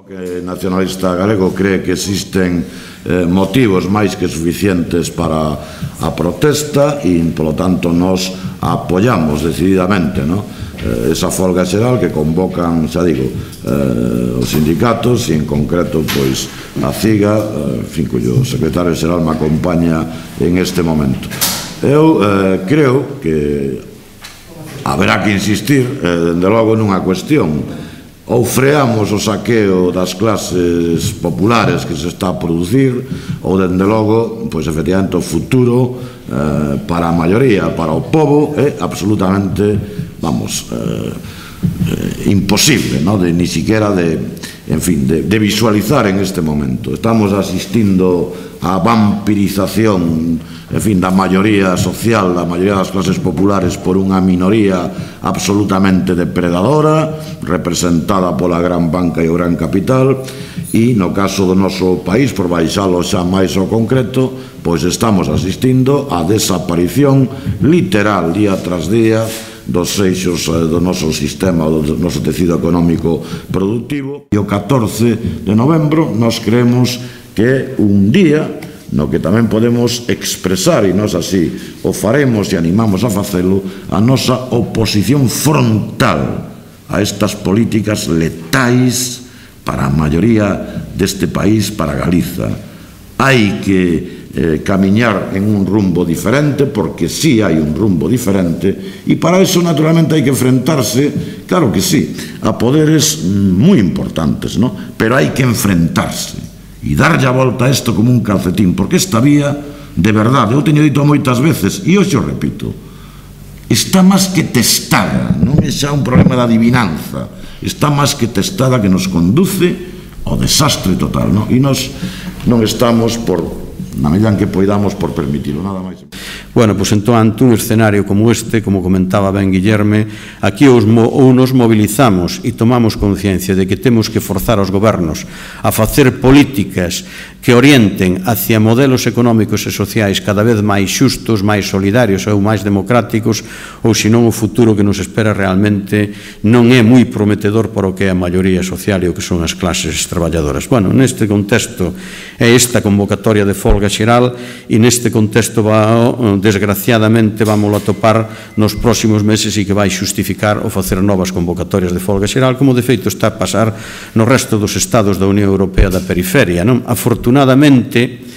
O nacionalista galego cree que existen motivos máis que suficientes para a protesta e, polo tanto, nos apoiamos decididamente esa folga xeral que convocan, xa digo, os sindicatos e, en concreto, pois, a CIGA, en fin, cuyo secretario xeral me acompaña en este momento. Eu creo que haberá que insistir, dende logo, nunha cuestión. Ou freamos o saqueo das clases populares que se está a producir, ou, dende logo, pois, efectivamente, o futuro para a maioría, para o povo, é absolutamente, vamos, imposible, ni siquiera de visualizar en este momento. Estamos asistindo á vampirización, en fin, da maioría social, da maioría das clases populares por unha minoría absolutamente depredadora, representada pola gran banca e o gran capital, e no caso do noso país, por baixalo xa máis ao concreto, pois estamos asistindo á desaparición literal día tras día dos eixos do noso sistema, do noso tecido económico productivo. E o 14 de novembro nos creemos que é un día no que tamén podemos expresar, e nós así o faremos e animamos a facelo, a nosa oposición frontal a estas políticas letais para a maioría deste país, para Galiza. Hai que camiñar en un rumbo diferente, porque sí hai un rumbo diferente, e para eso, naturalmente, hai que enfrentarse, claro que sí, a poderes moi importantes, pero hai que enfrentarse e darlle a volta a isto como un calcetín, porque esta vía, de verdade, eu teño dito moitas veces, e hoxe o repito, está máis que testada, non é xa un problema de adivinanza, está máis que testada, que nos conduce ao desastre total, e nós non estamos na medida en que poidamos por permitirlo, nada máis. Bueno, pois entón, ante un escenario como este, como comentaba ben Guillerme, aquí ou nos mobilizamos e tomamos conciencia de que temos que forzar os gobernos a facer políticas que orienten hacia modelos económicos e sociais cada vez máis xustos, máis solidarios ou máis democráticos, ou senón o futuro que nos espera realmente non é moi prometedor para o que é a maioría social e o que son as clases traballadoras. Bueno, neste contexto é esta convocatoria de folga xeral, e neste contexto desgraciadamente vamos a topar nos próximos meses e que vai xustificar o facer novas convocatorias de folga xeral, como de feito está a pasar no resto dos estados da Unión Europea da periferia. Afortunadamente,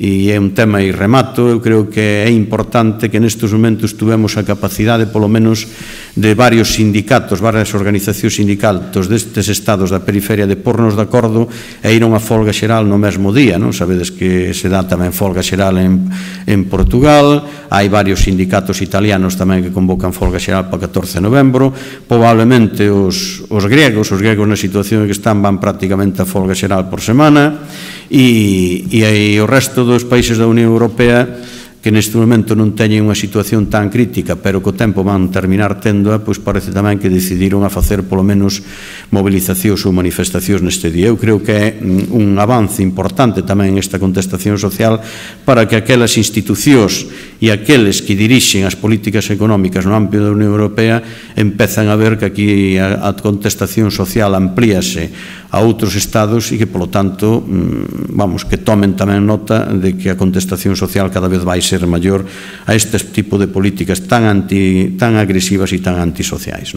e é un tema e remato, eu creo que é importante que nestes momentos tuvemos a capacidade, polo menos, de varios sindicatos, varias organizacións sindicatos destes estados da periferia de pornos de acordo e ir a unha folga xeral no mesmo día. Sabedes que se dá tamén folga xeral en Portugal, hai varios sindicatos italianos tamén que convocan folga xeral para 14 de novembro, probablemente os gregos na situación en que están van prácticamente a folga xeral por semana, e o resto dos países da Unión Europea que neste momento non teñen unha situación tan crítica, pero co tempo van terminar tendoa, pois parece tamén que decidiron a facer polo menos mobilizacións ou manifestacións neste día. Eu creo que é un avance importante tamén esta contestación social para que aquelas institucións e aqueles que dirixen as políticas económicas no ámbito da Unión Europea empezan a ver que aquí a contestación social amplíase a outros estados e que, polo tanto, que tomen tamén nota de que a contestación social cada vez vai ser maior a este tipo de políticas tan agresivas e tan antisociais.